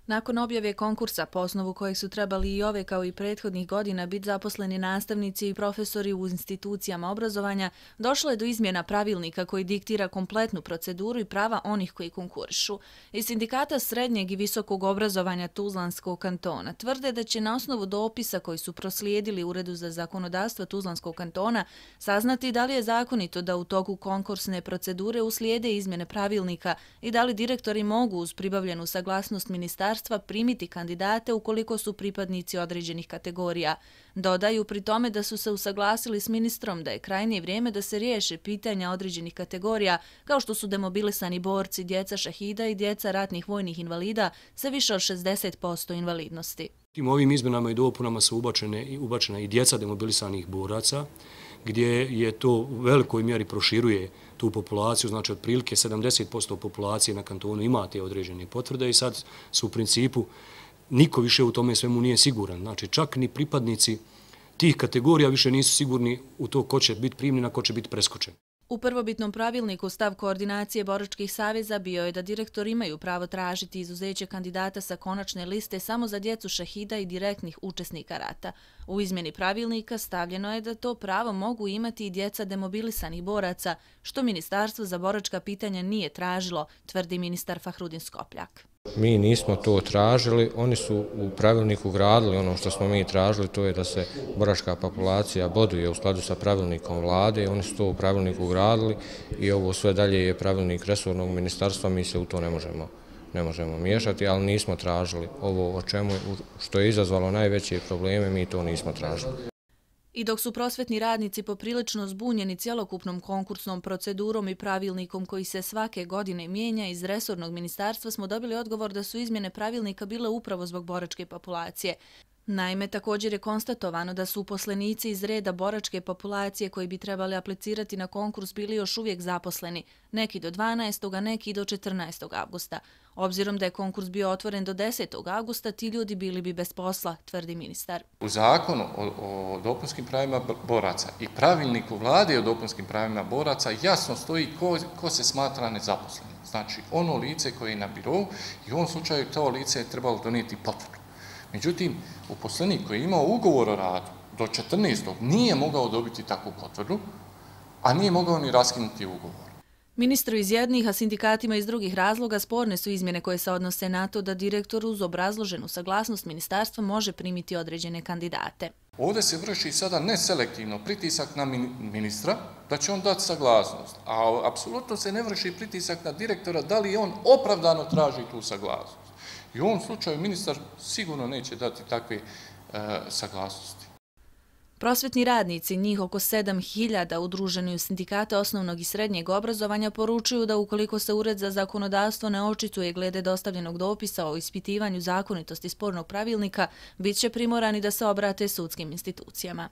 Nakon objave konkursa, po osnovu kojeg su trebali i ove kao i prethodnih godina biti zaposleni nastavnici i profesori u institucijama obrazovanja, došlo je do izmjena pravilnika koji diktira kompletnu proceduru i prava onih koji konkurišu. Iz Sindikata srednjeg i visokog obrazovanja Tuzlanskog kantona tvrde da će na osnovu dopisa koji su proslijedili Uredu za zakonodavstvo Tuzlanskog kantona saznati da li je zakonito da u toku konkursne procedure uslijede izmjene pravilnika i da li direktori mogu uz pribavljenu saglasnost ministarstva primiti kandidate ukoliko su pripadnici određenih kategorija. Dodaju pri tome da su se usaglasili s ministrom da je krajnje vrijeme da se riješe pitanja određenih kategorija kao što su demobilisani borci, djeca šahida i djeca ratnih vojnih invalida sa više od 60% invalidnosti. Ovim izmjenama i dopunama su ubačena i djeca demobilisanih boraca, gdje je to u velikoj mjeri proširuje tu populaciju, znači otprilike 70% populacije na kantonu ima te određene potvrde i sad su u principu niko više u tome svemu nije siguran. Znači čak ni pripadnici tih kategorija više nisu sigurni u to ko će biti primljen, a ko će biti preskočen. U prvobitnom pravilniku stav koordinacije boračkih saveza bio je da direktori imaju pravo tražiti izuzeće kandidata sa konačne liste samo za djecu šahida i direktnih učesnika rata. U izmjeni pravilnika stavljeno je da to pravo mogu imati i djeca demobilisanih boraca, što Ministarstvo za boračka pitanja nije tražilo, tvrdi ministar Fahrudin Skopljak. Mi nismo to tražili, oni su u pravilniku ugradili ono što smo mi tražili, to je da se boračka populacija boduje u skladu sa pravilnikom vlade, oni su to u pravilniku ugradili i ovo sve dalje je pravilnik resornog ministarstva, mi se u to ne možemo miješati, ali nismo tražili ovo o čemu, što je izazvalo najveće probleme, mi to nismo tražili. I dok su prosvetni radnici poprilično zbunjeni cjelokupnom konkursnom procedurom i pravilnikom koji se svake godine mijenja, iz resornog ministarstva smo dobili odgovor da su izmjene pravilnika bile upravo zbog boračke populacije. Naime, također je konstatovano da su uposlenici iz reda boračke populacije koji bi trebali aplicirati na konkurs bili još uvijek zaposleni, neki do 12. a neki do 14. avgusta. Obzirom da je konkurs bio otvoren do 10. avgusta, ti ljudi bili bi bez posla, tvrdi ministar. U zakonu o dopunskim pravima boraca i pravilniku vlade o dopunskim pravima boraca jasno stoji ko se smatra nezaposlenim. Znači, ono lice koje je na birovu i u ovom slučaju to lice je trebalo donijeti potvrdu. Međutim, uposlenik koji je imao ugovor o radu do 14. nije mogao dobiti takvu potvrdu, a nije mogao ni raskinuti ugovor. Ministru iz jednih, a sindikatima iz drugih razloga sporne su izmjene koje se odnose na to da direktor uz obrazloženu saglasnost ministarstva može primiti određene kandidate. Ovdje se vrši sada neselektivno pritisak na ministra da će on dati saglasnost, a apsolutno se ne vrši pritisak na direktora da li on opravdano traži tu saglasnost. I u ovom slučaju ministar sigurno neće dati takve saglasnosti. Prosvetni radnici, njih oko 7.000 udruženi u Sindikate osnovnog i srednjeg obrazovanja, poručuju da ukoliko se Ured za zakonodavstvo ne očituje glede dostavljenog dopisa o ispitivanju zakonitosti spornog pravilnika, bit će primorani da se obrate sudskim institucijama.